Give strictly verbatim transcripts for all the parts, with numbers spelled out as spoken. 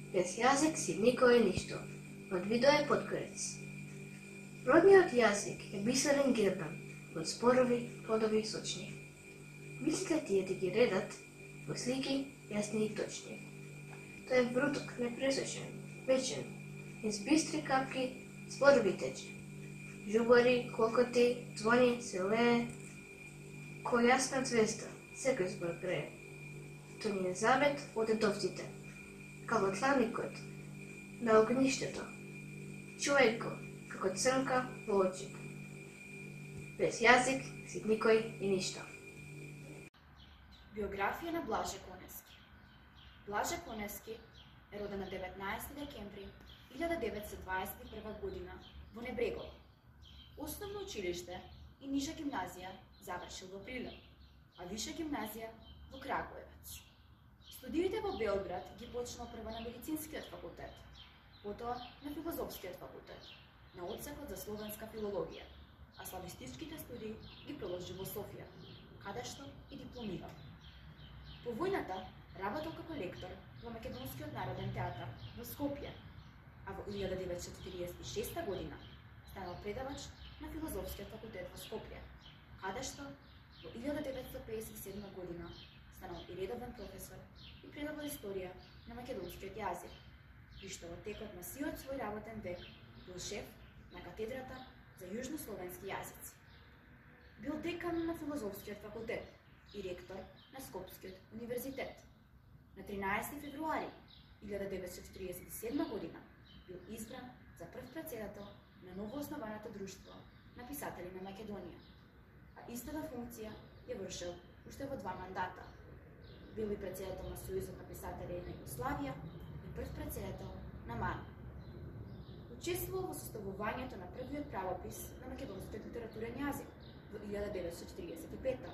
Без јазик си никој ништо. Од Видое Подкорец. Родниот јазик е бисерен гербан од зборови, плодови и сочни. Мислите тие да ги редат во слики јасни и точни. Тој е вруток, непресочен, вечен, из бистри капки зборови тече. Жубари, клокоти, звони, се лее, кој јасна звезда, секој збор грее. Тој ни е завет од дедовците, како тланикот на огништето. Чувај го, како црнка во очик. Без јазик си никој и ништо. Биографија на Блаже Конески. Блаже Конески е роден на деветнаесети декември илјада деветстотини дваесет и прва година во Небрегово. Основно училиште и ниžа гимназија завршил во Прилеп, а виша гимназија во Крагуевец. Студиите во Белград ги почнал прво на медицинскиот факултет, потоа на филозофскиот факултет, на одсекот за словенска филологија, а славистичките студии ги продолжи во Софија, каде што и дипломирал. По војната работел како лектор во Македонскиот народен театар во Скопје, а во илјада деветстотини четиридесет и шеста година станал предавач на филозофскиот факултет во Скопје, каде што во илјада деветстотини пеесет и седма година станал и редовен професор и предавал историја на македонскиот јазик, при што во текот на сиот свој работен век бил шеф на катедрата за јужнословенски јазици. Бил декан на филозофскиот факултет и ректор на Скопскиот универзитет. На тринаесети февруари илјада деветстотини тридесет и седма година бил избран за прв претседател на новооснованото друштво на писатели на Македонија, а истата функција ја вршил уште во два мандата. Бил и претседател на Сојузот на писатели на Југославија и прв претседател на МАН. Учествувал во составувањето на првиот правопис на македонскиот литературен јазик во илјада деветстотини четиридесет и пета.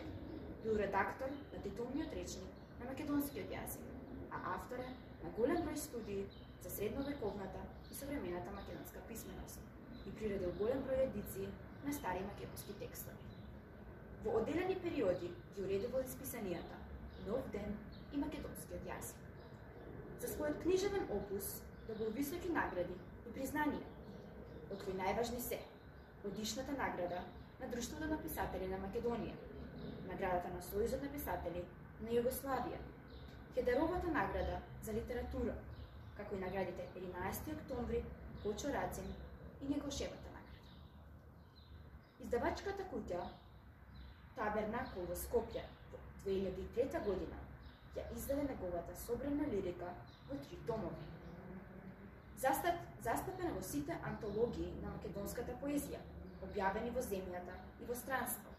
Бил редактор на титулниот речник на македонскиот јазик, а автор е на голем број студии за средновековната и современата македонска писменост и приредил голем број едиции на стари македонски текстови. Во одделени периоди ги уредувал исписанијата Нов ден и македонскиот јазик. За својот книжевен опус добил високи награди и признанија, од кои најважни се годишната награда на Друштвото на писатели на Македонија, наградата на Сојузот на писатели на Југославија, Хедеровата награда за литература, како и наградите единаесети октомври, Кочо Рацин и Негошевата награда. Издавачката куќа Табернакл во Скопје во две илјади и трета година ја издаде неговата собрана лирика во три томови. Застап, застапена во сите антологии на македонската поезија, објавени во земјата и во странство,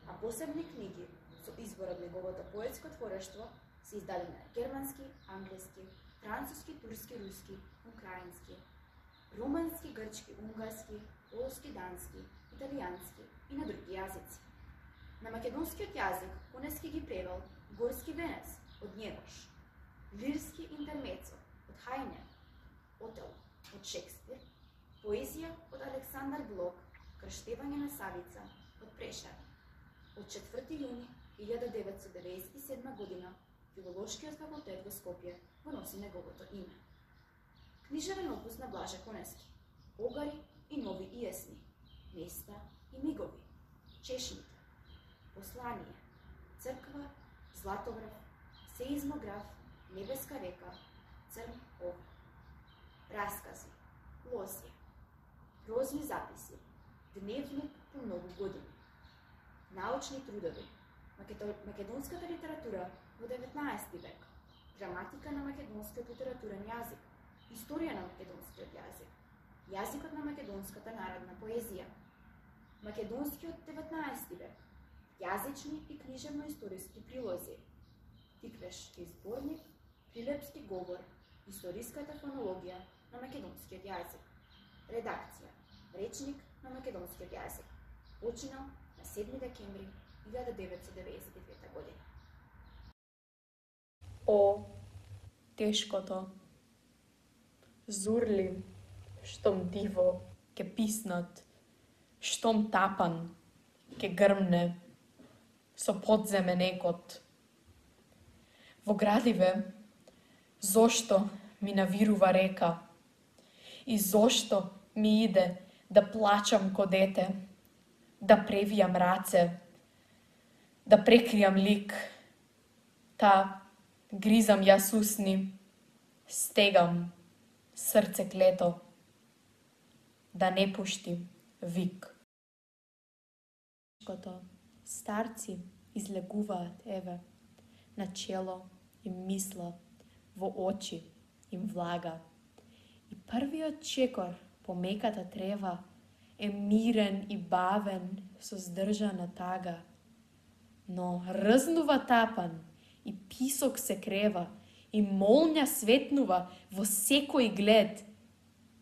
а посебни книги со избор од неговото поетско творештво се издадени на германски, англиски, француски, турски, руски, украински, румански, грчки, унгарски, полски, дански, италијански и на други јазици. На македонскиот јазик Конески ги превел Горски венец од Njegos, Лирски интермецо од Хајне, Отело од Шекспир, поезија од Александар Блок, Крштевање на Савица од Прешер. Од четврти јуни илјада деветстотини деветдесет и седма година Филолошкиот факултет во Скопје го носи неговото име. Книжевен опус на Блаже Конески, Огари и нови иесни, Места и мигови, Чешмите, Послание, Црква, Златобрав, Сеизмограф, Небеска река, Црн овр. Раскази, Лозија, Прозни записи, Дневник по многу години, научни трудови, македонската литература во деветнаесети век, граматика на македонскиот литературен јазик, историја на македонскиот јазик, јазикот на македонската народна поезија, македонскиот деветнаесети век, јазични и книжевно-историски прилози, Тиквешки зборник, Прилепски говор, историската фонологија на македонскиот јазик, редакција, речник на македонскиот јазик, починал на седми декември илјада деветстотини деветдесет и трета година. О, тешкото, зурли, штом диво, ке писнат, штом тапан, ке грмне, со подземен екот. Во градиве, зошто ми навирува река? И зошто ми иде да плачам ко дете, да превијам раце, да прекријам лик, та гризам јас усни, стегам срце клето, да не пушти вик. Старци излегуваат, еве, на чело им мисла, во очи им влага. И првиот чекор по меката трева е мирен и бавен со здржана тага. Но рзнува тапан и писок се крева и молња светнува во секој глед.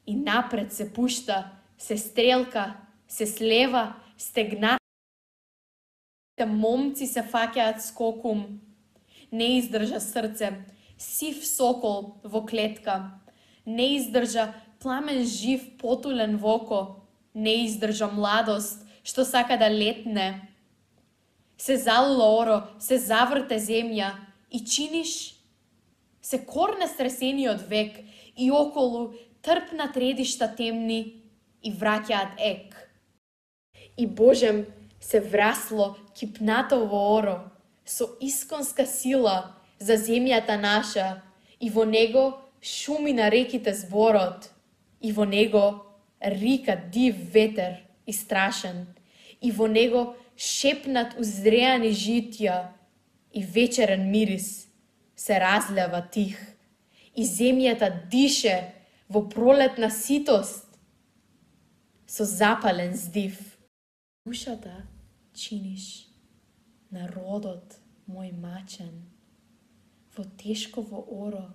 И напред се пушта, се стрелка, се слева, стегна. Момци се фаќаат скокум, не издржа срце, сив сокол во клетка, не издржа пламен жив потулен во око, не издржа младост што сака да летне. Се залула оро, се заврте земја и чиниш, се корне стресениот век и околу трпна тредишта темни и враќаат ек. И Божем се врасло кипнатово оро, со исконска сила за земјата наша, и во него шуми на реките зборот, и во него рика див ветер и страшен, и во него шепнат узреани житја, и вечерен мирис се разлева тих, и земјата дише во пролетна ситост, со запален здив. Душата чиниш народот мој мачен, во тешково оро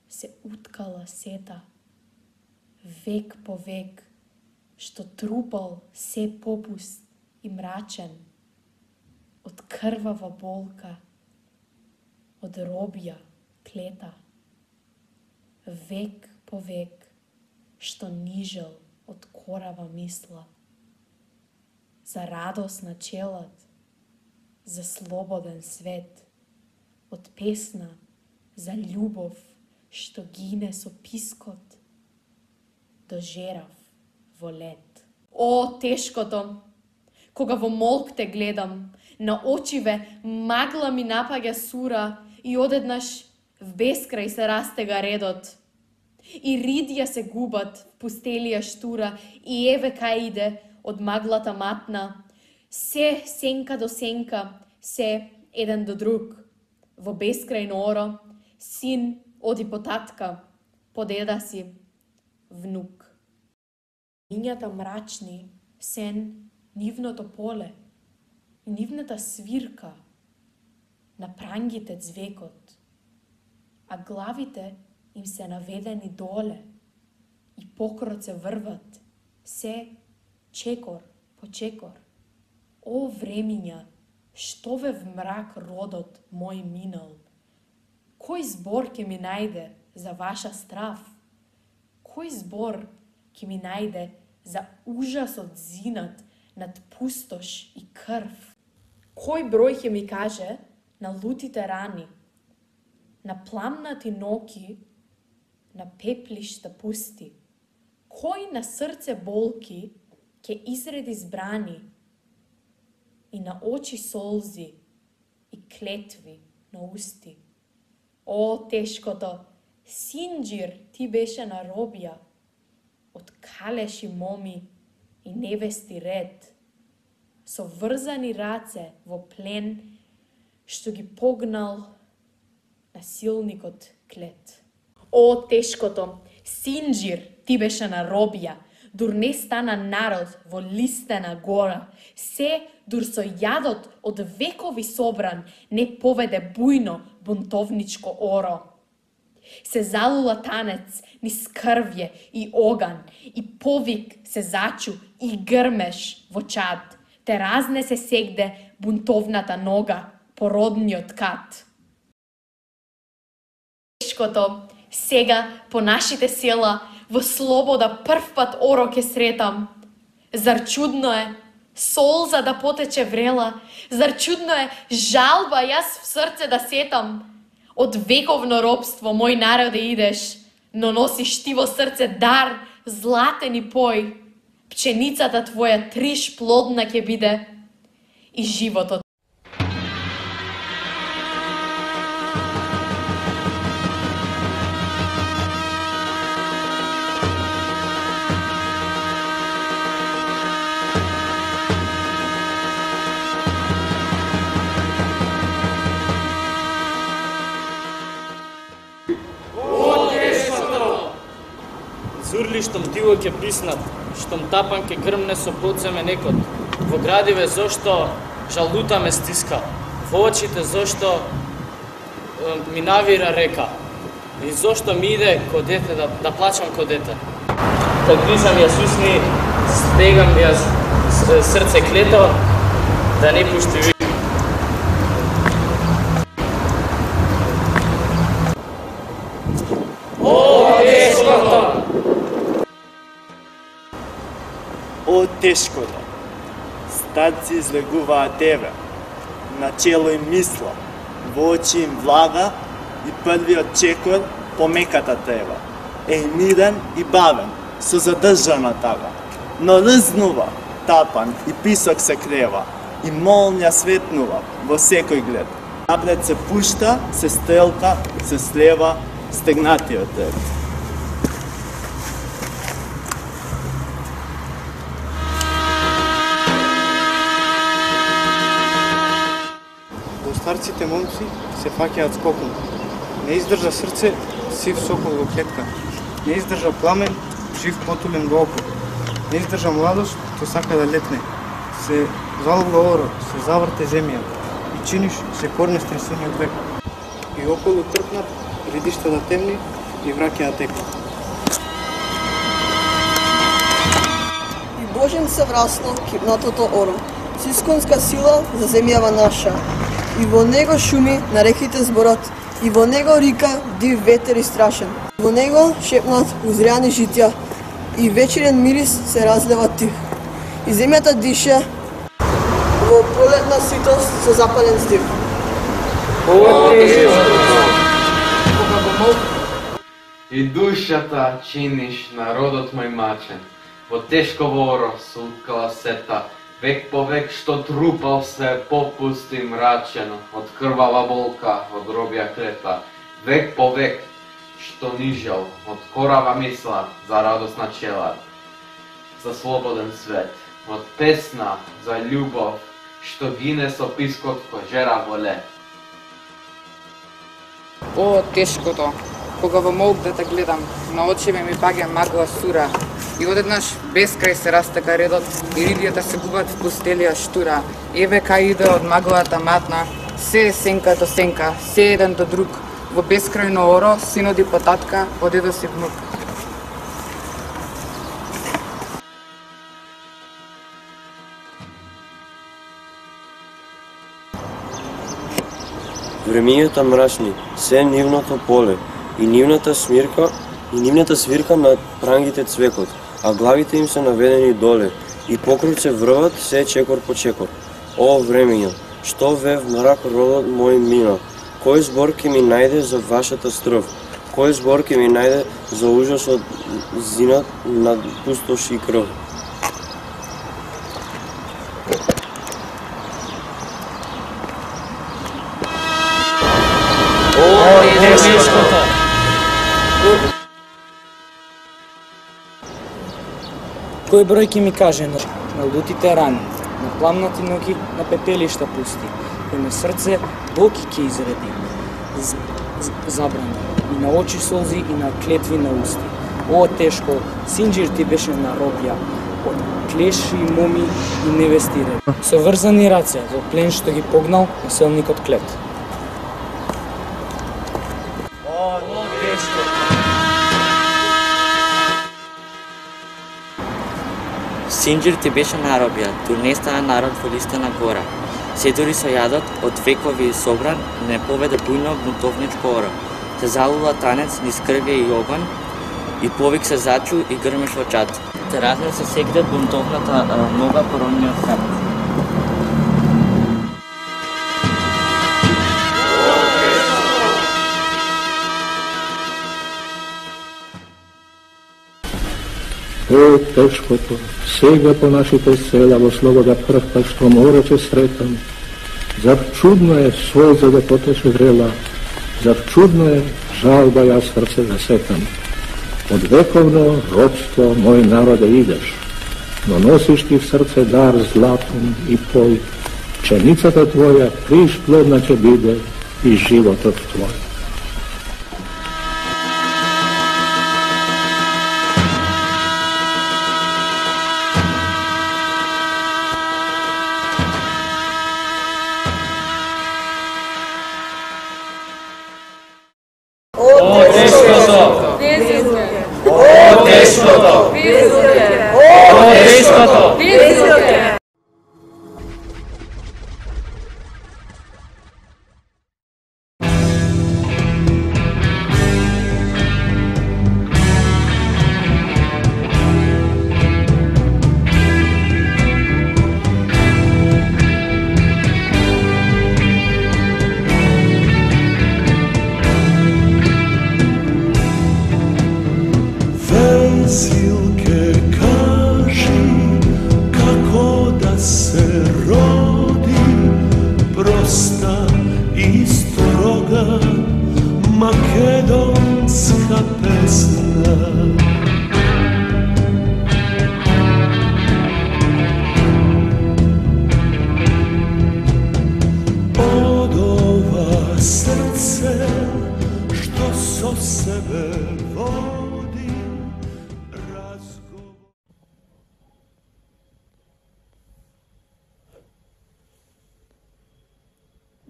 се уткала сета, век по век, што трупал се попуст и мрачен, од крвава болка, од робија клета, век по век, што нижел од корава мисла, за радост на челат, за слободен свет, од песна за љубов што гине со пискот, дожерав во лет. О, тешкото, кога во молк те гледам, на очиве магла ми напаѓа сура и одеднаш в бескрај се растега редот. И ридја се губат в пустелија штура и еве кај иде од маглата матна, се сенка до сенка, се еден до друг. Во бескрајно оро, син оди по татка, по деда си, внук. Лињата мрачни, сен нивното поле, нивната свирка, на прангите звекот, а главите им се наведени доле и покроце врват, се чекор по чекор. О, времиња, што ве в мрак родот мој минал? Кој збор ќе ми најде за ваша страв? Кој збор ќе ми најде за ужасот зинат над пустош и крв? Кој број ќе ми каже на лутите рани, на пламнати ноки, на пеплишта пусти? Кој на срце болки ќе изреди збрани и на очи солзи и клетви на усти? О, тешкото, Синџир ти беше на робија, од калеши моми и невести ред, со врзани раце во плен, што ги погнал насилникот клет. О, тешкото, Синџир ти беше на робија, дур не стана народ во листена гора, се дур со јадот од векови собран не поведе бујно бунтовничко оро. Се залула танец низ крвје и оган, и повик се зачу и грмеш во чад, те разнесе сегде бунтовната нога по родниот кат. Тешкото, сега по нашите села во слобода првпат оро ке сретам. Зар чудно е солза да потече врела, зар чудно е жалба јас в срце да сетам. Од вековно робство, мој народе, идеш, но носиш ти во срце дар, златен и пој. Пченицата твоја триш плодна ќе биде и животот. Зурли штом диво ќе писнат, штом тапан ќе грмне со подземе некот. Во градиве зошто жалута ме стиска, во очите зошто е, ми навира река. И зошто ми иде ко дете да, да плачам ко дете. Кад гризам ја сусни, стегам ја срце клето, да не пушти ви. О, тешкото! Старци излегуваат тебе, на чело им мисла, во очи им влага и првиот чекор по меката трева. Е мирен и бавен, со задржана тага, но рзнува, тапан и писок се крева, и молња светнува во секој глед. Напред се пушта, се стрелка, се слева стегнатиот ред. Старците момци се фаќаат скоком. Не издржа срце, сив сокол во клетка. Не издржа пламен, жив потулен во око. Не издржа младост, то сака да летне. Се залуга оро, се заврте земја. И чиниш се корне стресениот век. И околу трпнат, гридишта да темни и враќа да текнат. И Божен се врасно кипнатото оро. С исконска сила за земјава наша. И во него шуми на реките зборат, и во него рика див ветер и страшен. Во него шепнат узряни житја, и вечерен мирис се разлева тих. И земјата дише во пролетна ситост со запален здив. И душата чиниш народот мој мачен, во тешко воро со уткала сета, век по век што трупал се попусти мрачен, од крвава болка, од робја клета. Век по век што нижел, од корава мисла за радосна чела, за слободен свет, од песна за љубов, што гине со пискот кој жера во лед. О, тешкото, кога во молк да те гледам, на очеве ми паѓа магла сура, и одеднаш безкрај се растека редот и рибјата се губат в пустелија штура. Еве кај иде од маглата матна, се е сенка до сенка, се еден до друг, во бескрајно оро, синот и потатка, од дедо си внук. Времењата мрачни, се нивното поле, и нивната смирка, и нивната свирка на прангите цвекот, а главите им се наведени доле, и покруг се врват се чекор по чекор. О, времења, што вев мрак родот мој мина, кој збор ќе ми најде за вашата стров, кој збор ќе ми најде за ужасот зинат над пустош и крв. О, тешкото! Кој број ќе ми каже на, на лутите рани, на пламнати ноги, на пепелишта пусти, кој на срце болки ќе изреди, з, з, забрани, и на очи солзи, и на клетви на усти. О, тешко, Синџир ти беше на робја, од клеши, моми и невести ред. Со врзани раце, во плен што ги погнал населникот Клет. О, тешко! Синџир ти беше на робја, тур не стана народ во листена гора. Се дури со јадот од векови собран, не поведе бујно бунтовничко оро. Се залула танец низ крвје и оган, и повик се зачу и грмеш во чат. Те разне се сегде бунтовната нога по родниот храм. Е, тешкото, сега по нашите села во слобода првка што море ќе сретам. Зар чудно е свој за да потеше врела, зар чудно е жалба ја срце да сетам. Од вековно родство мој народе идеш, но носиш ти в срце дар златен и пој, пшеницата твоја приш плодна ќе биде и животот твој.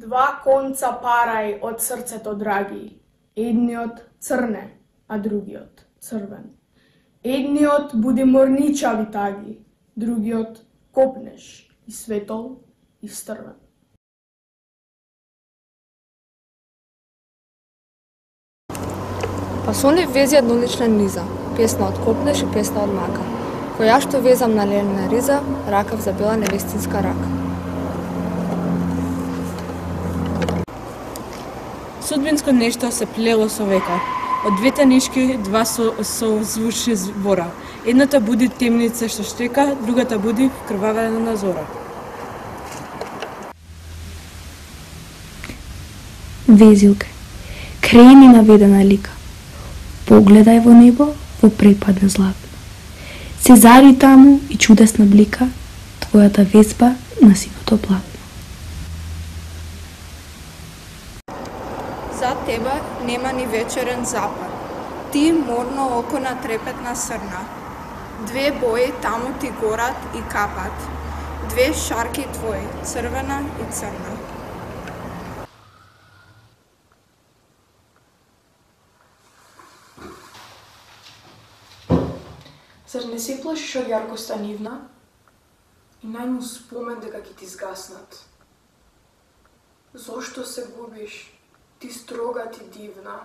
Два конца парај од срцето, драги. Едниот црне, а другиот црвен. Едниот буди морничави таги, другиот копнеш и светол и стрвен. Па со не вези еднолична низа, песна од копнеш и песна од мака. Која што везам на лелена риза, ракав за бела невестинска рака. Судбинско нешто се плело со века. Од двете нишки два со, со звучни збора. Едната буди темница што штека, другата буди вкрвавена на зора. Везилка, крени наведена лика. Погледај во небо, во препадна златна. Се зари таму и чудесна блика, твојата везба на сивото платно. За тебе нема ни вечерен запад. Ти морно око на трепетна срна. Две бои таму ти горат и капат. Две шарки твои, црвена и црна. Зар не се плашиш од јаркоста нивна? И најму спомен дека ќе ти згаснат. Зошто се губиш? Ти строга, ти дивна.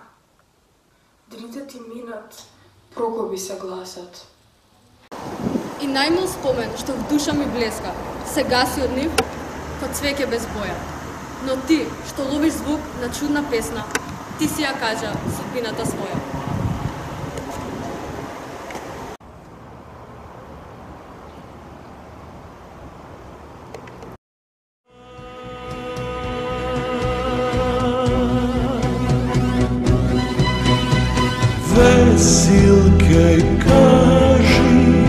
Дните ти минат, прокоби се гласат. И најмил спомен што в душа ми блеска, се гаси од нив, код цвеќе без боја. Но ти, што ловиш звук на чудна песна, ти си ја кажа судбината своја. Весилке, кажи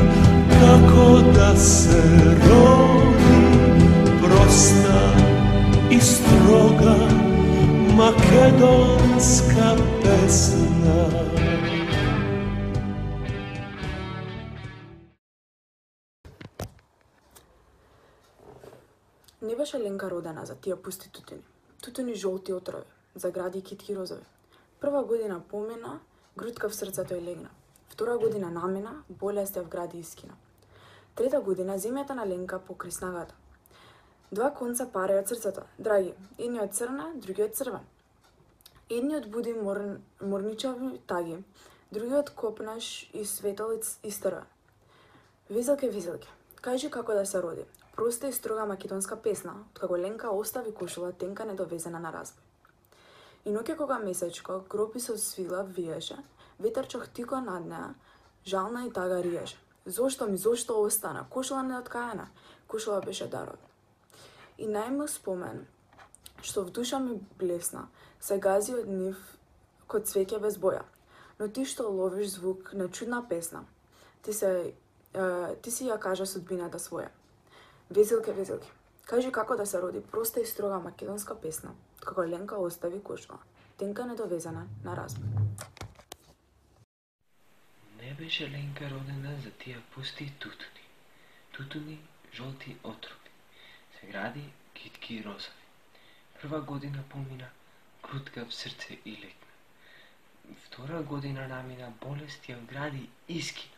како да се роди, проста и строга македонска песна. Не беше Ленка родена за тие пусти тутини, тутини жолти отрови, за гради китки розови. Прва година помина, грудка в срцето й легна. Втора година намина, болест ја вгради и скина. Трета година земјата на Ленка покри снагата. Два конца парај од срцето, драги, едниот црна, другиот црвен. Едниот буди мор... морничави таги, другиот копнаш и светол и стрвен. Везелке, везелке, кажи како да се роди. Проста и строга македонска песна, откако Ленка остави кошула тенка недовезена на разбој. И ноќе кога месечко, гропи со свила виеше, ветер чохтико над неа, жална и тага риеше. Зошто ми, зошто остана? Кошула неоткаена. Кошула беше дарот. И најмил спомен, што в душа ми блесна, се гази од нив код цвеќе без боја. Но ти што ловиш звук на чудна песна, ти, се, е, ти си ја кажа судбината своја. Везилке, везилке, кажи како да се роди проста и строга македонска песна, како Ленка остави кошула, тенка недовезена на разбор. Не беше Ленка родена за тия пусти тутуни, тутуни жолти отрови, се гради китки розови. Прва година помина, крутка в срце и лекна. Втора година намина, болест ја вгради и скина.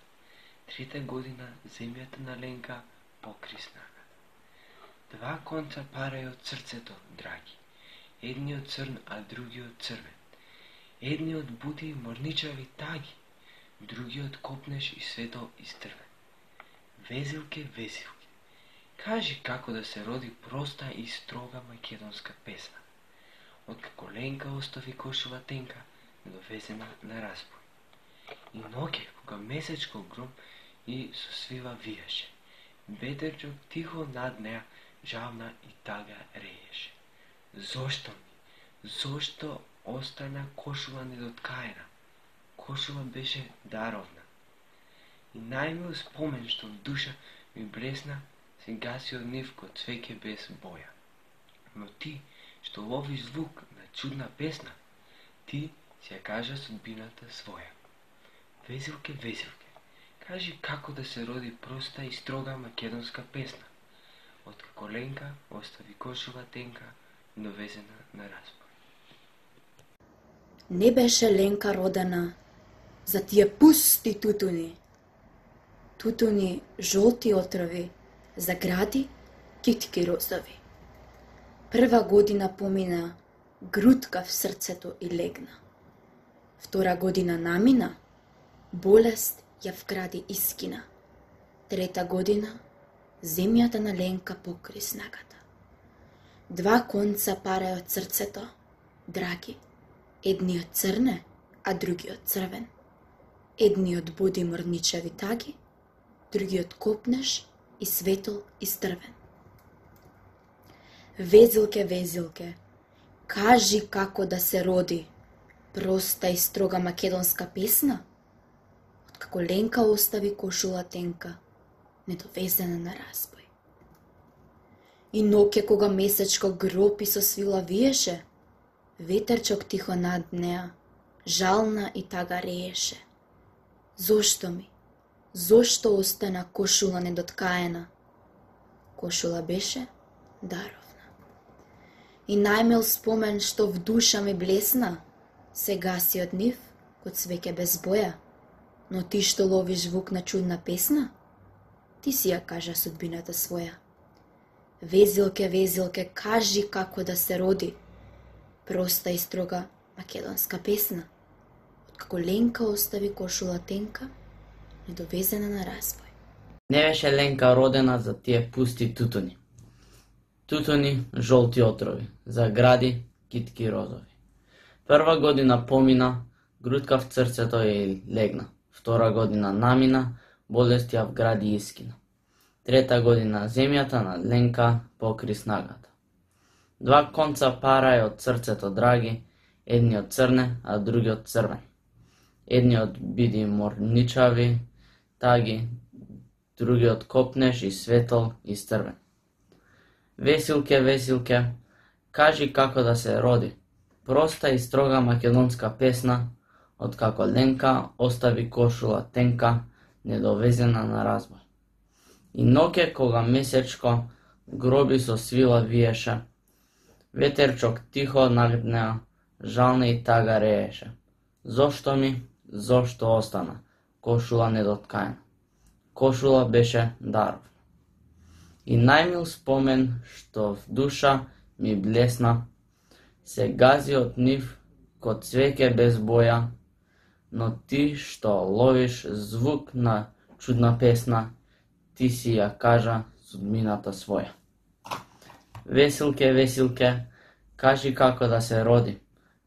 Трета година земјата на Ленка покри снагата. Два конца парај од срцето, драги, едниот црн, а другиот црвен. Едниот буди морничави таги, другиот копнеш и свето истрвен. Везилке, везилке, кажи како да се роди проста и строга македонска песна. Откако Ленка остави кошула тенка, недовезена на разбой. И ноќе, кога месечко гром и со свива виеше, ветерчок тихо над неа жална и тага рееше. Зошто ми, зошто остана кошула недоткаена? Кошула беше даровна. И најмил спомен што в душа ми блесна, се гаси од нив код цвеќе без боја. Но ти, што лови звук на чудна песна, ти си ја кажа судбината своја. Везилке, везилке, кажи како да се роди проста и строга македонска песна, откако Ленка остави кошула тенка, довезена на разбой. Не беше Ленка родена за тие пусти тутуни, тутуни жолти отрови, за гради китки розови. Прва година помина, грудка в срцето и легна. Втора година намина, болест ја вгради и скина. Трета година, земјата на Ленка покри снагата. Два конца парај од срцето, драги, едниот црне, а другиот црвен. Едниот буди мрничави таги, другиот копнеш и светол и стрвен. Везилке, везилке, кажи како да се роди проста и строга македонска песна, откако Ленка остави кошула тенка, недовезена на разбой. И ноќе кога месечко гропи со свила виеше, ветерчок тихо над неа, жална и тага рееше. Зошто ми, зошто остана кошула недоткаена? Кошула беше даровна. И најмил спомен што в душа ми блесна, се гаси од нив код свеќе без боја. Но ти што ловиш звук на чудна песна, ти си ја кажа судбината своја. Везилке, везилке, кажи како да се роди проста и строга македонска песна, откако Ленка остави кошула тенка, недовезена на разбой. Не беше Ленка родена за тие пусти тутуни. Тутуни жолти отрови, за гради китки розови. Прва година помина, грудка в срцето и легна. Втора година намина, болест ја вгради и скина. Трета година земјата на Ленка покри снагата. Два конца парај од срцето, драги, едниот црне, а другиот црвен. Едниот биди морничави таги, другиот копнеш и светол и стрвен. Весилке, весилке, кажи како да се роди проста и строга македонска песна, откако Ленка остави кошула тенка, недовезена на разбой. И ноќе кога месечко гроби со свила виеше, ветерчок тихо над неа, жална и тага рееше. Зошто ми, зошто остана кошула недоткаена? Кошула беше даровна. И најмил спомен што в душа ми блесна, се гази од нив код цвеќе без боја, но ти што ловиш звук на чудна песна, ти си ја кажа судбината своја. Весилке, весилке, кажи како да се роди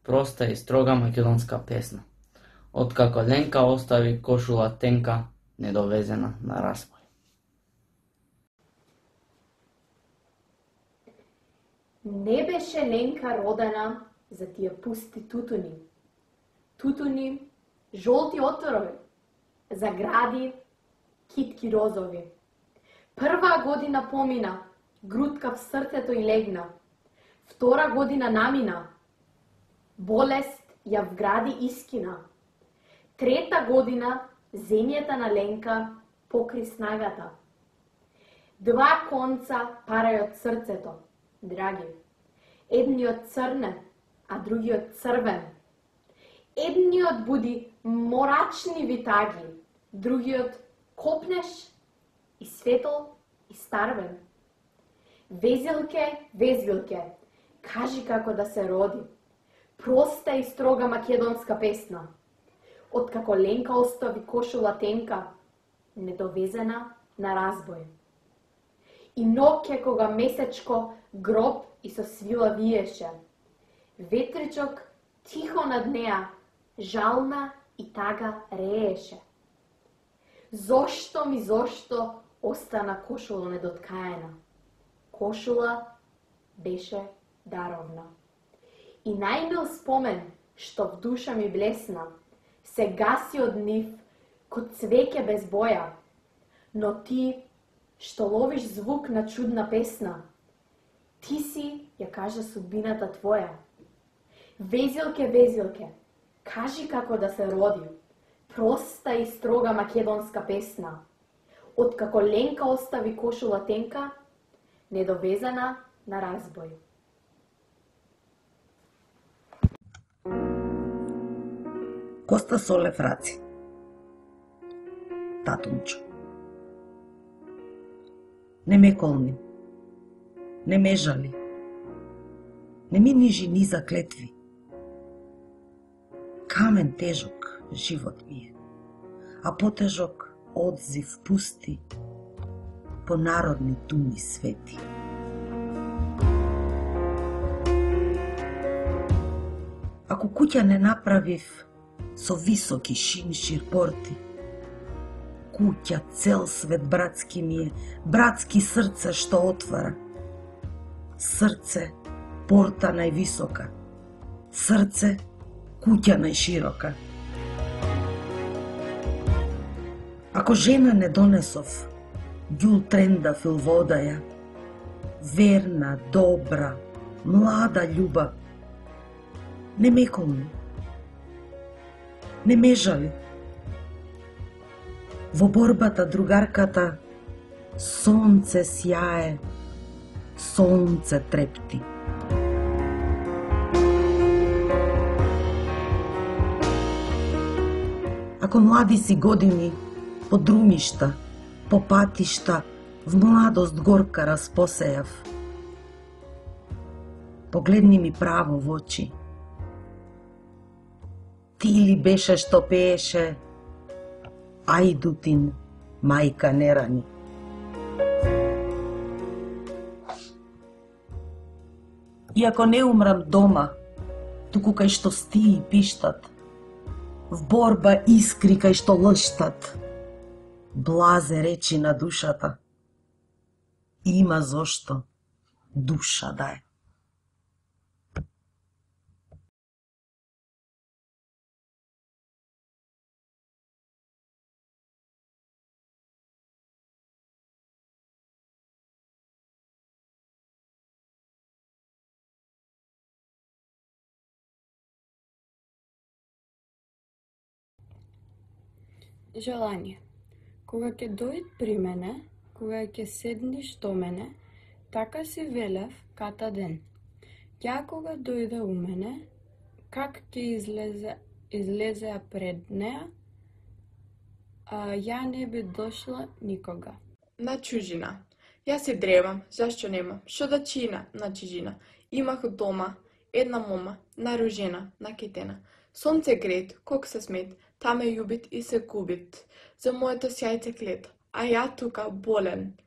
проста и строга македонска песна, откако Ленка остави кошула тенка, недовезена на разбој. Не беше Ленка родена за тие пусти тутуни. Тутуни, жолти отрови, загради, китки розови. Прва година помина, грудка в срцето и легна. Втора година намина, болест ја вгради искина. Трета година земјата на Ленка покри снагата. Два конца парај од срцето, драги. Едниот црнен, а другиот црвен. Едниот буди морачни витаги, другиот копнеш и светол и старвен. Везилке, везилке, кажи како да се роди. Проста и строга македонска песна. Откако Ленка остави кошула тенка, недовезена на разбој. И ноќе кога месечко гроб и со свила виеше. Ветричок тихо над неа, жална и тага рееше. Зошто ми зошто остана кошула недоткаена? Кошула беше даровна. И најмил спомен, што в душа ми блесна, се гаси од нив, код цвеќе без боја. Но ти, што ловиш звук на чудна песна, ти си, ја кажа судбината твоја. Везилке, везилке, кажи како да се роди, проста и строга македонска песна. Откако Ленка остави кошула тенка, недовезена на разбој. Коста Солев Раци. Татунчо. Не ме колни, не ме жали, не ми нижи ни за клетви. Камен тежок живот ми е, а потежок одзив пусти по народни думи свети. Ако куќа не направив со високи шиншир порти, куќа цел свет братски ми е, братски срце што отвара. Срце, порта највисока, срце, куќа најширока. Ако жена не донесов, ѓул трендав ил водаја, верна, добра, млада љуба, не ме колни, не ме жали. Во борбата другарката сонце сјае, сонце трепти. Ако млади си години, по друмишта, по патишта, в младост горка распосејав, погледни ми право во очи. Ти ли беше што пееше Ајдутин, мајка не рани? Иако не умрам дома, туку кај што стии пиштат, в борба искри кај што лштат, блазе речи на душата, има зошто душа да е. Желание. Кога ќе дојд при мене, кога ќе седниш до мене, така си велев ката ден. Ја кога дојде у мене, как ќе излезе, излезеа пред неа, а ја не би дошла никога. На чужина. Јас се древам, зашто немам, шо да чина на чужина. Имах дома една мома, наружена, накетена. Сонце грет, кок се смет, таме јубит и се губит. За моето сјајце клет, а ја тука болен,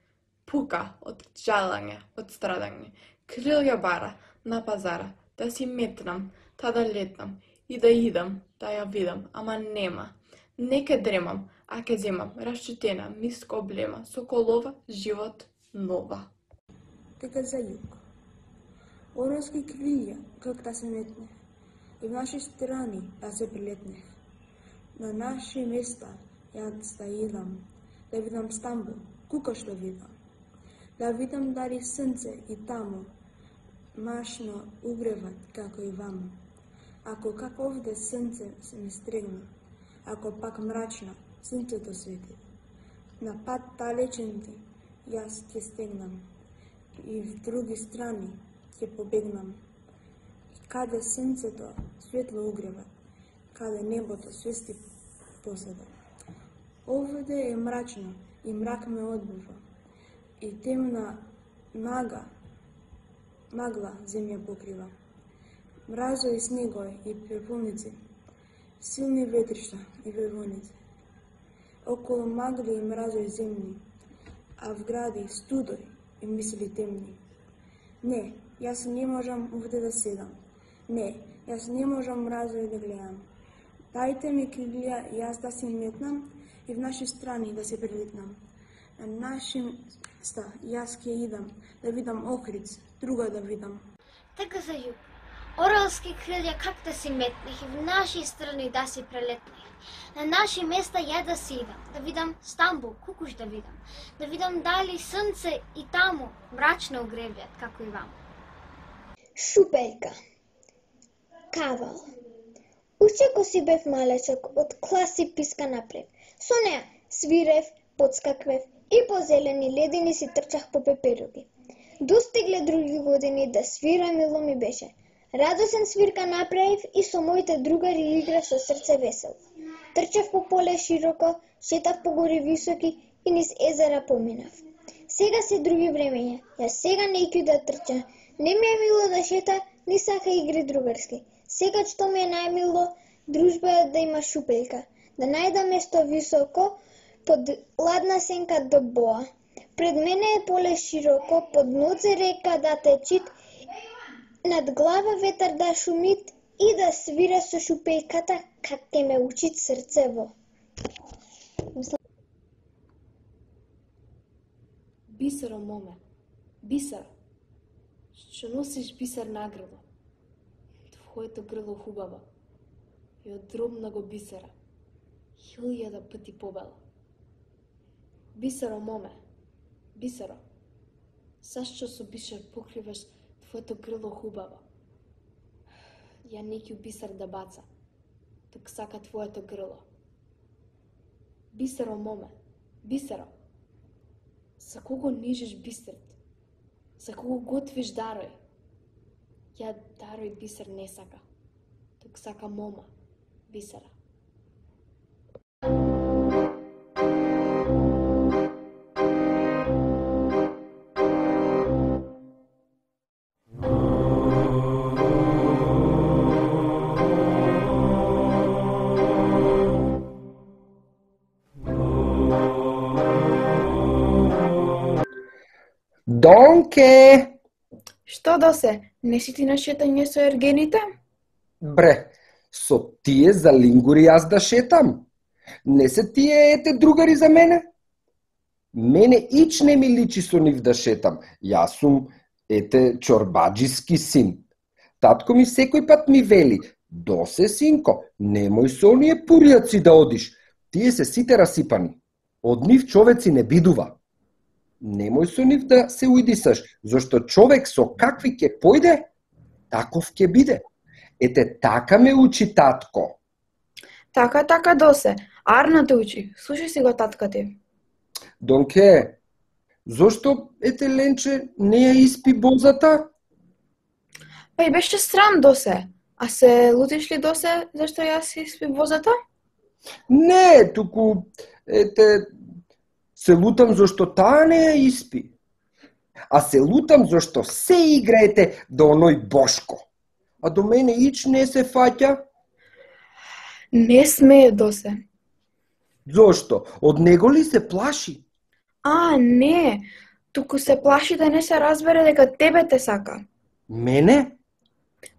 пука од жалање, од страдање. Крилја бара на пазара, да си метнам, та да летнам и да идам, да ја видам, ама нема. Не ке дремам, а ке земам, расчутена, миска облема, соколова, живот нова. Дека за југ. Орлски крилја, как да се метнех, и в наши страни да се прилетнех. На наши места јас да идам, да видам Стамбул, кука што видам. Да видам дали сонце и таму, машно угреват како и ваму. Ако како овде сонце се ми стрегна, ако пак мрачно сонцето свети, на пат далеченти јас ќе стегнам и в други страни ќе побегнам. И каде сонцето светло угрева, каде небото свести поседа. Овде е мрачно и мрак ме одбива, и темна мага, магла земја покрива. Мразо и снегој и препуници, силни ветришта и вевоници. Околу магли и мразој земни, а в гради студој и мисли темни. Не, јас не можам овде да седам. Не, јас не можам мразој да гледам. Дајте ми крилја јас да се метнам и в наши страни да се прилетнам. На наши места јас ќе идам да видам Охриц, друга да видам. Дека за југ. Орлски крилја как да се метнех и в наши страни да се прелетнех. На наши места ја да се идам, да видам Стамбул, кукуш да видам. Да видам дали сонце и таму мрачно угревјат, како и вам. Шупелка. Кавал. Уште ко си бев малечок, од класи писка напред. Со неа свирев, подскаквев и по зелени ледини си трчах по пеперуги. Достигле други години да свира мило ми беше. Радосен свирка направив и со моите другари играв со срце весело. Трчав по поле широко, шетав по гори високи и низ езера поминав. Сега се други времења, јас сега неќу да трча. Не ми е мило да шета, ни сака игри другарски. Сега што ми е најмило, дружба е да има шупелка, да најда место високо, под ладна сенка до боа. Пред мене е поле широко, под ноце река да течит, над глава ветар да шумит и да свира со шупелката, как ке ме учит срцево. Бисеро, моме, бисер, што носиш бисер на грло. Твоето грло хубаво и од дробного бисера, хилјада пати побело. Бисеро, моме, бисеро, зашто со бисер покриваш твоето грло хубаво? Ја неќу бисер да баца, тук сака твоето грло. Бисеро, моме, бисеро, за кого нижиш бисерт? За кого готвиш дарој? Ја дарој бисер не сака, тук сака мома, бисера. Донке! Што досе? Не си ти на шетање со ергените? Бре, со тие за лингури јас да шетам. Не се тие ете другари за мене? Мене ич не ми личи со нив да шетам. Јас сум ете чорбаджиски син. Татко ми секој пат ми вели: "Досе, синко, немој со оние пуријаци да одиш. Тие се сите расипани. Од нив човеци не бидува. Немој со нив да се уидисаш, зашто човек со какви ќе појде, таков ќе биде." Ете така ме учи татко. Така, така, досе. Арна те учи. Слушај си го татка ти. Донке, зошто ете Ленче не ја испи бозата? Па и беше срам, досе. А се лутиш ли, досе, зашто јас испи бозата? Не, туку, ете, се лутам зашто таа не ја испи. А се лутам зашто се играете до оној Бошко. А до мене ич не се фаќа? Не смее, досе. Зошто? Од него ли се плаши? А, не. Туку се плаши да не се разбере дека тебе те сака. Мене?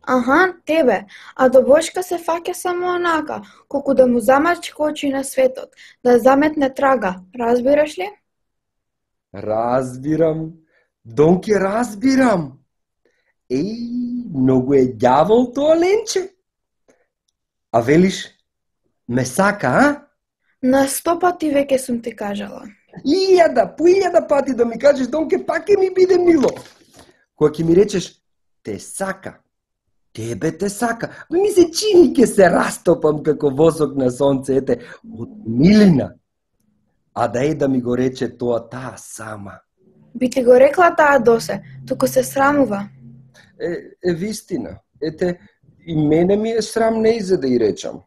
Аха, тебе, а до Бошка се фаќа само онака, колку да му замачка очи на светот, да заметне трага, разбираш ли? Разбирам, Донке разбирам. Еј, многу е ѓавол тоа ленче. А велиш, ме сака, а? На сто пати веќе сум ти кажала. Илјада, по илјада пати да ми кажеш, Донке, пак ќе ми биде мило. Кога ќе ми речеш, те сака, тебе те сака, ми се чини ке се растопам како восок на сонце, ете, од милина. А да е да ми го рече тоа таа сама. Би ти го рекла таа досе, туку се срамува. Е, е вистина. Ете, и мене ми е срам не за да и речам.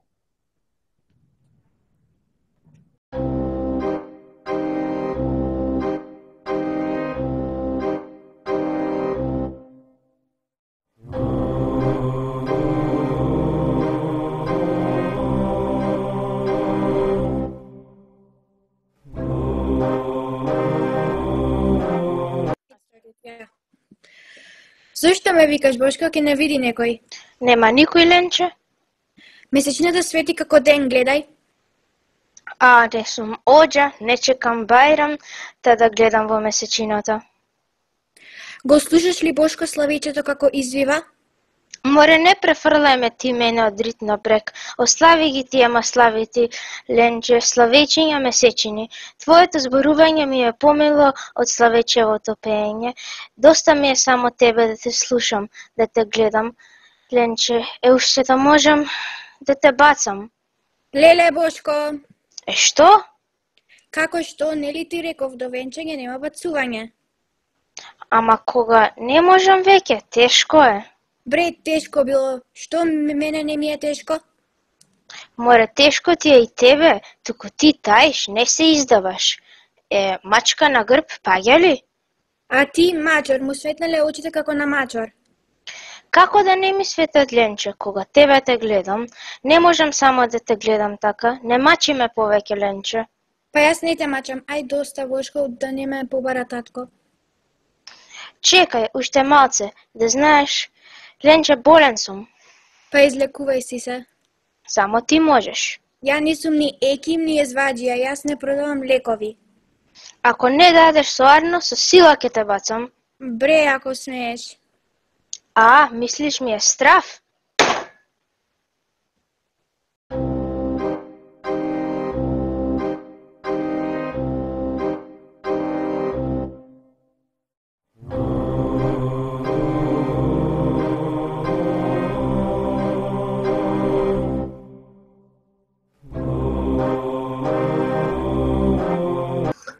Зошто ме викаш, Бошко, ке не види некој? Нема никој, ленче. Месечината свети како ден, гледај. А, не сум оđа, не чекам Бајрам, та да гледам во месечината. Го слушаш ли Бошко славичето како извива? Море, не префрлај ме ти мене од рит напрек. Ослави ги ти, ама слави ти, ленче, славечиња месечини. Твоето зборување ми е помило од славечевото пеење. Доста ми е само тебе да те слушам, да те гледам. Ленче, е уште да можам да те бацам. Леле, Бошко. Е, што? Како што, нели ти реков, до венчање нема бацување? Ама кога не можам веќе, тешко е. Бре, тешко било. Што мене не ми е тешко? Море, тешко ти е и тебе, туку ти таиш, не се издаваш. Е, мачка на грб, паѓа ли? А ти, мачор, му светнале очите како на мачор. Како да не ми светат, ленче, кога тебе те гледам, не можам само да те гледам така, не мачи ме повеќе, ленче. Па јас не те мачам, ај доста, Бошко, да не ме побара татко. Чекај, уште малце, да знаеш, ленче, болен сум. Па излекувај си се. Само ти можеш. Ја не сум ни еким, ни езваджија, јас не продавам лекови. Ако не дадеш соарно, со сила ќе те бацам. Бре, ако смееш. А, мислиш ми е страв?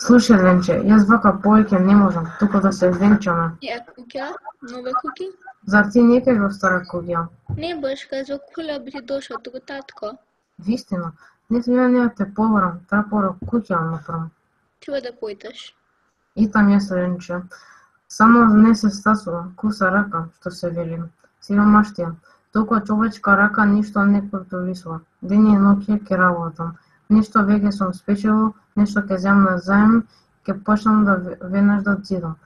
Слушај, ленче, јас вака повеќе не можам, туку да се венчаме. Ја куќа? Нова куќа? Зар ти не кај во стара куќа? Не, Бошка, за кула би ти дошол туку татко. Вистина, не сме ја не те побарам, трапоро куќа направам. Треба да појдеш. И там јас, ленче. Само не се стасува, куса рака, што се вели. Сиромаштија, толку човечка рака ништо не контролисува. Ден и ноќе ќе работам. Нешто веќе сум спечело, нешто ќе земам на заем, ќе почнам да веднаш да отидам.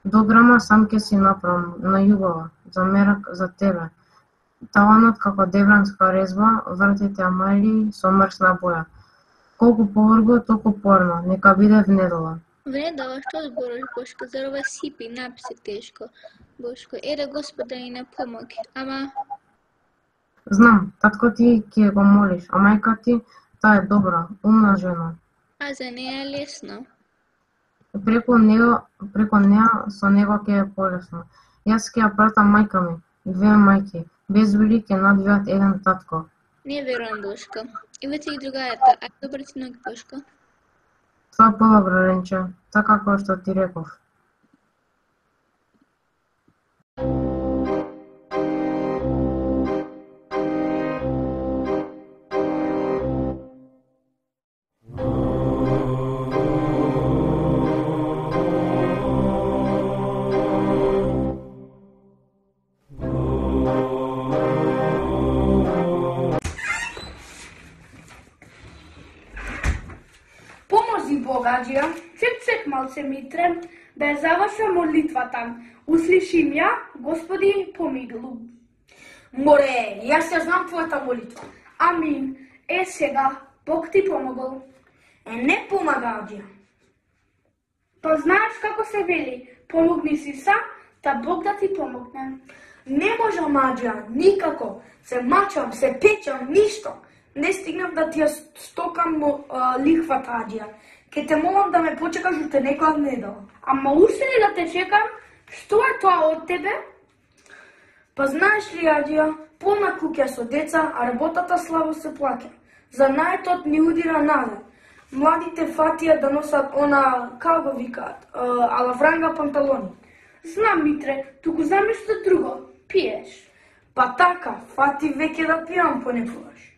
Дограма сам ќе си направам, на јубава, за мерак за тебе. Таванот како девранска резба, вратите амали со мрсна боја. Колку поврго, толку порно, нека биде внедола. Внедола, што збориш, Бошко, зар ова сипи, написи тешко. Бошко, еде Господ да ни не помоги, ама... Знам, татко ти ќе го молиш, а мајка ти, таа е добра, умна жена. А за неја е лесно. Преку него, преку неа со него ќе е полесно. Јас ќе ја пратам мајка ми, две мајки, без вели ќе надвијат еден татко. Не верувам, Бошко. Ивате и другајата, а добар ти ноги, Бошко. Тоа подобро, ленче, така како што ти реков. Богаđija, чек-чек малце митре, да ја завршам молитвата. Услиши ја, Господи, помилу. Море, јас ја знам твојата молитва. Амин. Е сега, Бог ти помогол. Е, не помага, Аджија. Па знаеш како се вели, помогни си сам, та Бог да ти помогне. Не можам, Аджија, никако. Се мачам, се печам, ништо. Не стигнав да ти ја стокам а, лихвата, Аджија. Ке те молам да ме почекаш уште некоја недела. Ама уште ли да те чекам? Што е тоа од тебе? Па знаеш ли, Аджија, полна куќа со деца, а работата слабо се плаќа. За наетот ни удира наве. Младите фатија да носат она, како го викаат, алавранга панталони. Знам, Митре, туку за нешто друго, пиеш. Па така, фати веќе да пијам понекогаш.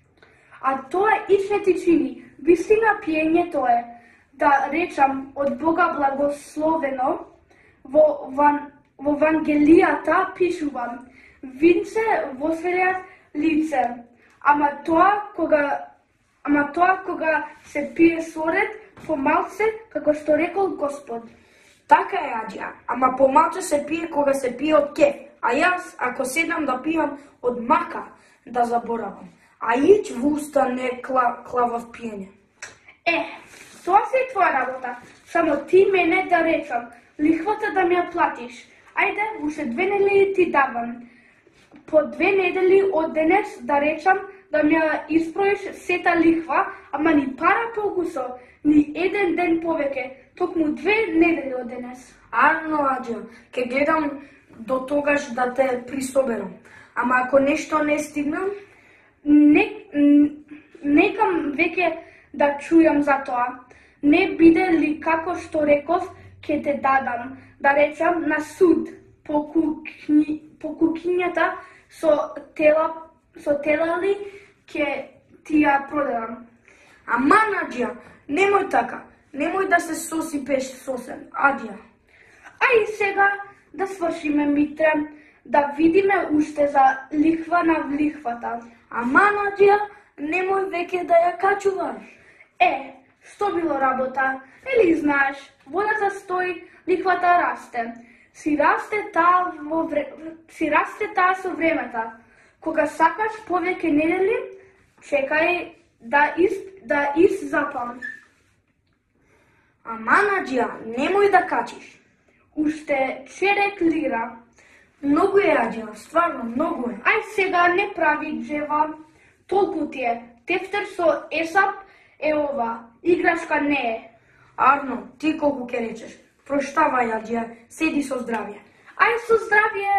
А тоа ич не ти чини. Вистина пиењето е, да речам, од Бога благословено, во, ван, во Вангелијата пишувам, винце восвелјат лице, ама тоа кога ама тоа кога се пие соред, помалце, како што рекол Господ. Така е, Аджија, ама помалце се пие кога се пие од кеф, а јас, ако седам да пијам од мака, да заборавам. А ич во уста не кла, клавав пиење. Е, тоа се е твоја работа. Само ти мене да речам, лихвата да ми ја платиш. Ајде, уште две недели ти давам. По две недели од денес, да речам, да ми ја испроиш сета лихва, ама ни пара покусо, ни еден ден повеќе, токму две недели од денес. Арно, Аджија, ке гледам до тогаш да те присоберам. Ама ако нешто не стигнам, не, некам веќе да чујам за тоа. Не биде ли како што реков, ке те дадам, да речам, на суд, по, кукни, по кукињата со тела, со телали, ке ти ја продадам. Ама, Аджија, немој така, немој да се сосипеш сосем, Аджија. Ај сега да свршиме, Митре, да видиме уште за лихва на лихвата. Ама, Аджија, немој веќе да ја качуваш. Е, што било работа? Ели знаеш, водата стои, лихвата расте. Си расте таа во вре... си расте таа со времето. Кога сакаш повеќе недели, чекај да из да из запам. Ама, Аджија, немој да качиш. Уште черек лира. Многу е, Аджија, стварно многу е. Ај сега не прави джева. Толку ти е. Тефтер со Есап е ова. Играчка не е. Арно, ти колку ке речеш. Проштавај, Аджија, седи со здравје. Ај со здравје.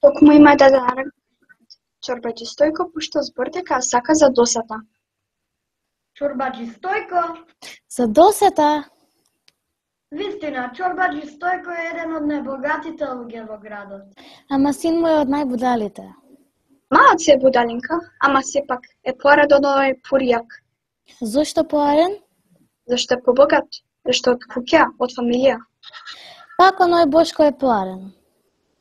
Токму има да дарам Чорбаџи Стојко пушта збор дека сака за досета. Чорбаџи Стојко? За досета? Вистина, Чорбаџи Стојко е еден од најбогатите луѓе во градот. Ама син му е од најбудалите. Малат се е будалинка, ама сепак е поарен од овој пуријак. Зошто поарен? Зашто е побогат, зашто од куќа, од фамилија. Пак оној Бошко е поарен.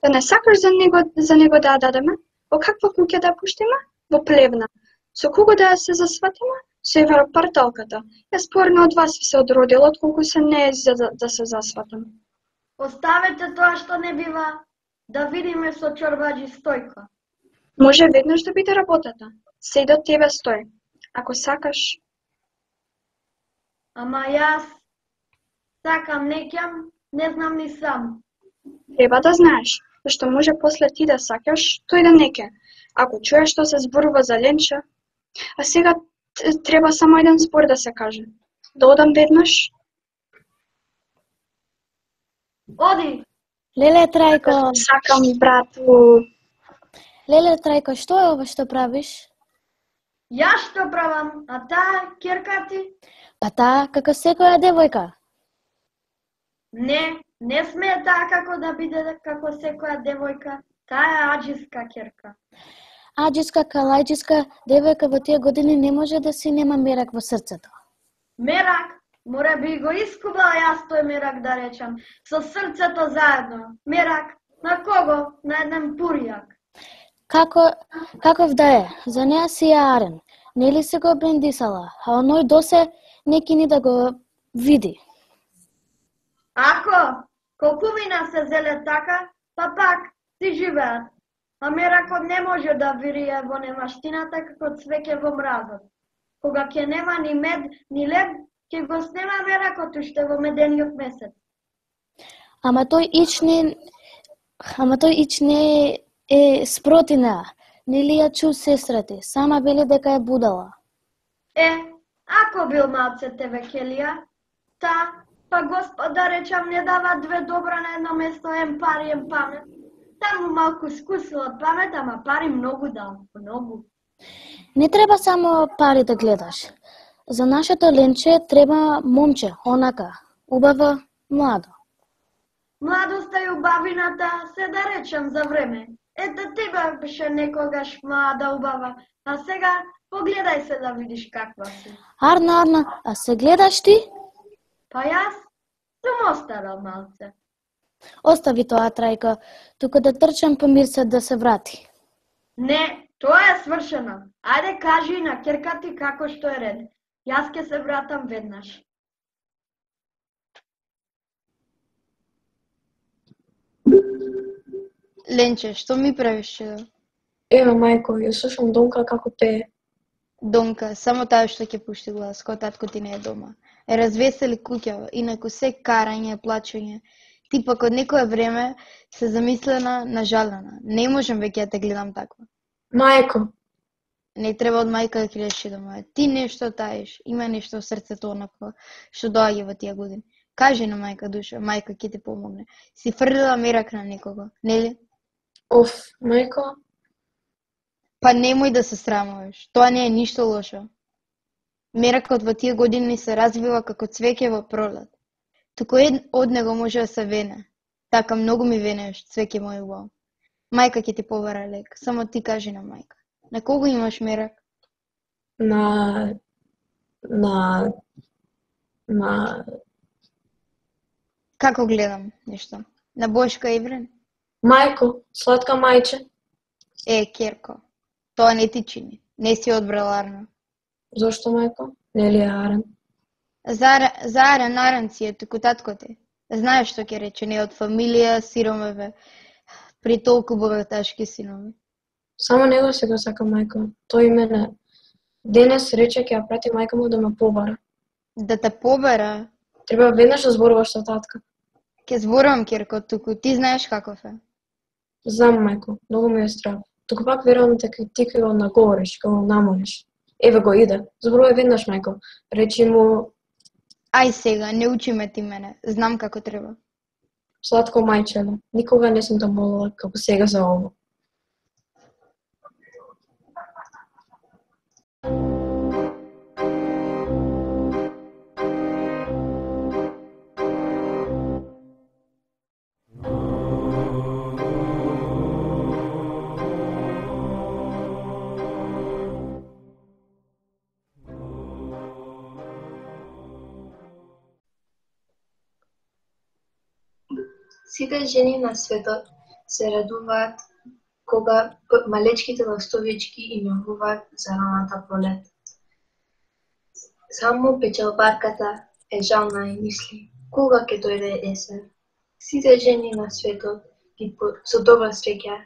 Да не сакаш за него, за него да ја дадеме? Во каква куќа да пуштиме? Во Плевна. Со кого да се засватиме? Со европарталката. Јас порно од вас се одродила, отколку се не е за да, да се засватам. Оставете тоа што не бива, да видиме со Чорбаџи Стојко. Може веднаш да биде работата. Се до тебе стои. Ако сакаш. Ама јас сакам, не ќам, не знам ни сам. Треба да знаеш, зашто може после ти да сакаш, тој да не ке. Ако чуеш што се зборува за Ленча, а сега треба само еден збор да се каже. Да одам веднаш? Оди! Леле Трајко! Сакам, брату! Леле Трајко, што е ова што правиш? Јас што правам, а таа ќерка ти? Па таа, како секоја девојка. Не, не смее таа како да биде како секоја девојка. Таа е аџиска ќерка. Аџиска, калајџиска девојка во тие години не може да си нема мерак во срцето. Мерак, море би го искубала јас тој мерак да речам, со срцето заедно. Мерак, на кого? На еден пурјак. Како, каков да е, за неа си е арен. Нели се го брендисала, а оној досе неки ни да го види. Ако, колкувина се зеле така, па пак си живеат. А меракот не може да вирие во немаштината како цвеќе во мразот. Кога ќе нема ни мед, ни лед, ќе го снема меракот уште во медениот месец. Ама тој ич не... Ама тој ич не е спроти неа. Нели ја чу сестрати, сама вели дека е будала. Е, ако бил малце тебе Келија, та, па Господ да речам не дава две добра на едно место, ем пари, ем памет. Таму малку скусила од памет, ама пари многу дал, многу. Не треба само пари да гледаш. За нашето Ленче треба момче, онака, убава, младо. Младоста и убавината се да речам за време. Ете тебе беше некогаш млада убава, а сега погледај се да видиш каква си. Арна, Арна, а се гледаш ти? Па јас сум остарал малце. Остави тоа, Трајка, тука да трчам по Мирца да се врати. Не, тоа е свршено. Ајде кажи на ќерка ти како што е ред. Јас ќе се вратам веднаш. Ленче, што ми правиш чудо? Ева, мајко, ја слушам Донка како пее. Донка, само таа што ќе пушти глас, кога татко ти не е дома. Е развесели куќава, инаку се карање, плачење. Ти пак од некое време се замислена, нажалена. Не можам веќе да те гледам таква. Мајко. Не треба од мајка да кридеш дома. Ти нешто таиш, има нешто во срцето онакво што доаѓа во тие години. Кажи на мајка душа, мајка ќе ти помогне. Си фрлила мерак на некого, нели? Оф, мајко. Па немој да се срамуваш, тоа не е ништо лошо. Меракот во тие години се развива како цвеќе во пролет. Туку од него може да се вене. Така многу ми венеш, цвеќе мој убаво. Мајка ќе ти побара лек, само ти кажи на мајка. На кого имаш мерак? На... На... На... Како гледам нешто? На Бошка Иврен? Мајко, сладка мајче. Е, Керко, тоа не ти чини. Не си одбрал Арна. Зошто, мајко? Не ли е Арен? За, за Арен, Арен си е туку татко ти. Знаеш што ќе рече, не од фамилија, сиромеве, при толку богаташки синови. Само него се го сака мајко. Тој и мене. Денес рече ќе ја прати мајка му да ме побара. Да те побара? Треба веднаш да зборуваш со татка. Ке зборувам, Керко, туку ти знаеш каков е. Знам, мајко, многу ми е страв. Туку пак верувам дека ти ќе го наговориш, ќе го намориш. Еве го иде. Зборувај веднаш, мајко. Речи му... Ај сега, не учи ме ти мене. Знам како треба. Сладко мајчеле, никога не сум те молила како сега за ово. Сите жени на светот се радуваат кога малечките ластовички им јавуваат за раната пролет. Само печалбарката е жална и мисли кога ќе дојде есен. Сите жени на светот ги со добра среќа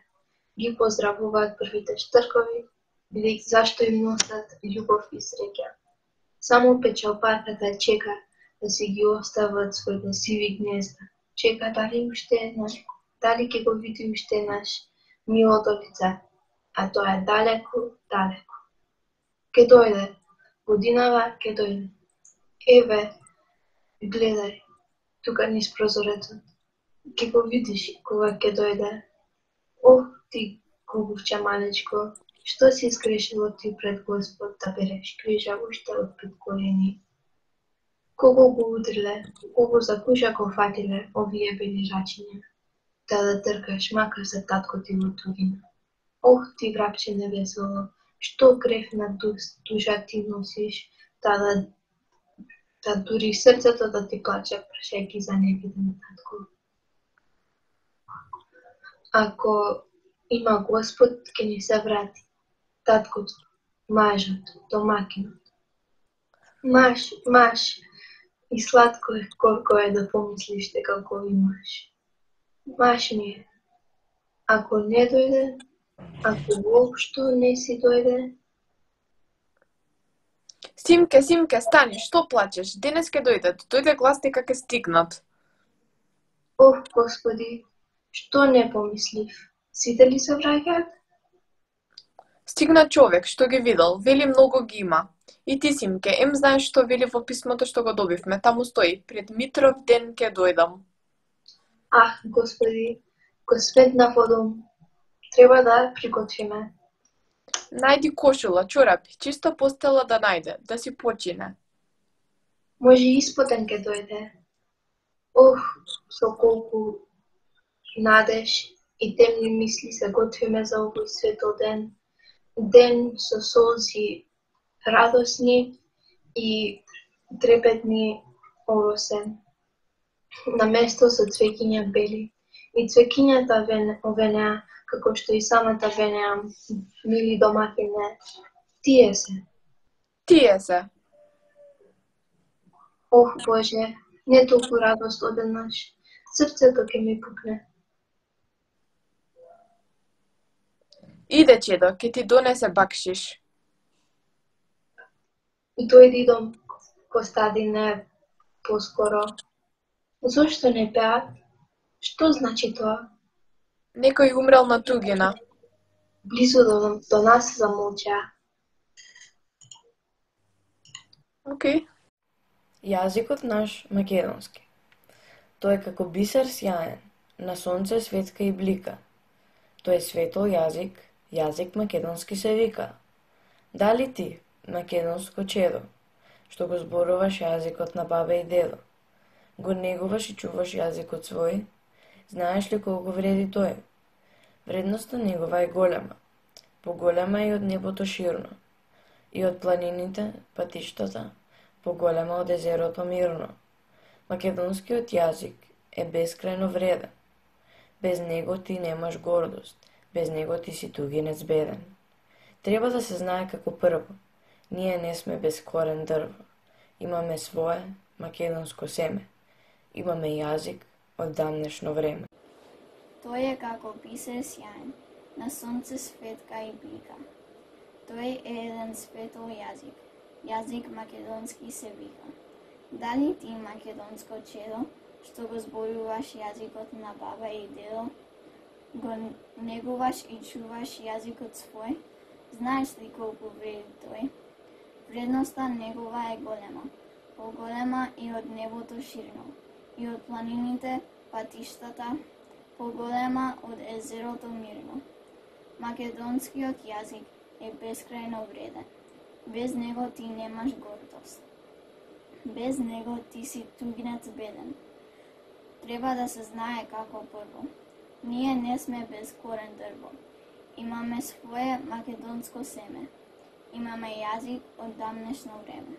ги поздравуваат првите штркови, бидејќи зашто им носат љубов и среќа. Само печалбарката чека да си ги остават своите сиви гнезда. Чека дали уште еднаш, дали ќе го види уште еднаш милото лице, а тоа е далеку, далеку. Ке дојде, годинава ке дојде. Еве, гледај, тука низ прозорецот. Ке го видиш кога ке дојде. Ох, ти губовче малечко, што си изгрешило ти пред Господ да береш крижа уште од пет години? Кого го удриле, кого за куша го фатиле овие бели рачиња, да да тркаш макар за татко ти во туѓина. Ох, ти врапче невесело, што грев на душа ти носиш, да да да дури срцето да ти плаче прашајќи за невиден татко. Ако има Господ, ќе ни се врати таткото, мажот, домакинот. Маш, маш, и сладко е колко е да помислиш дека го имаш. Маш ми е. Ако не дојде, ако воопшто не си дојде. Симке, Симке, стани, што плачеш? Денес ке дојдат, дојде глас дека ке стигнат. Ох, Господи, што не помислив? Сите ли се враќаат? Стигна човек што ги видел, вели многу ги има. И ти, Симке, ем знаеш што вели во писмото што го добивме, таму стои, пред Митров ден ке дојдам. Ах, Господи, го сметна во дом. Треба да приготвиме. Најди кошула, чорапи, чиста постела да најде, да си почине. Може испотен ке дојде. Ох, со колку надеж и темни мисли се готвиме за овој светол ден. Ден со солзи радосни и трепетни оросен. На место со цвеќиња бели. И цвеќињата овенеа, како што и самата венеа, мили домакине, тие се. Тие се. Ох, Боже, не толку радост одеднаш. Срцето ќе ми пукне. Иде, чедо, ќе ти донесе бакшиш. Дојди дом, Костадине, поскоро. Зошто не пеат? Што значи тоа? Некој умрел на тугина. Близу до, до нас замолчаа. Океј. Јазикот наш македонски. Тој е како бисер сјаен, на сонце светка и блика. Тој е светол јазик, јазик македонски се вика. Дали ти, македонско чедо, што го зборуваш јазикот на бабе и дедо, го негуваш и чуваш јазикот свој, знаеш ли колку вреди тој? Вредноста негова е голема, поголема и од небото ширно, и од планините, патиштата, поголема од езерото мирно. Македонскиот јазик е бескрајно вреден. Без него ти немаш гордост, без него ти си тугинец беден. Треба да се знае како прво, ние не сме без корен дрво. Имаме свое македонско семе. Имаме јазик од дамнешно време. Тој е како бисер сјаен, на сонце светка и блика. Тој е еден светол јазик, јазик македонски се вика. Дали ти, македонско чедо, што го зборуваш јазикот на баба и дедо, го негуваш и чуваш јазикот свој, знаеш ли колку вреди тој? Вредноста негова е голема, поголема и од небото ширно, и од планините, патиштата, поголема од езерото мирно. Македонскиот јазик е бескрајно вреден. Без него ти немаш гордост. Без него ти си тугинец беден. Треба да се знае како прво. Ние не сме без корен дрво. Имаме свое македонско семе. Имаме јазик од дамнешно време.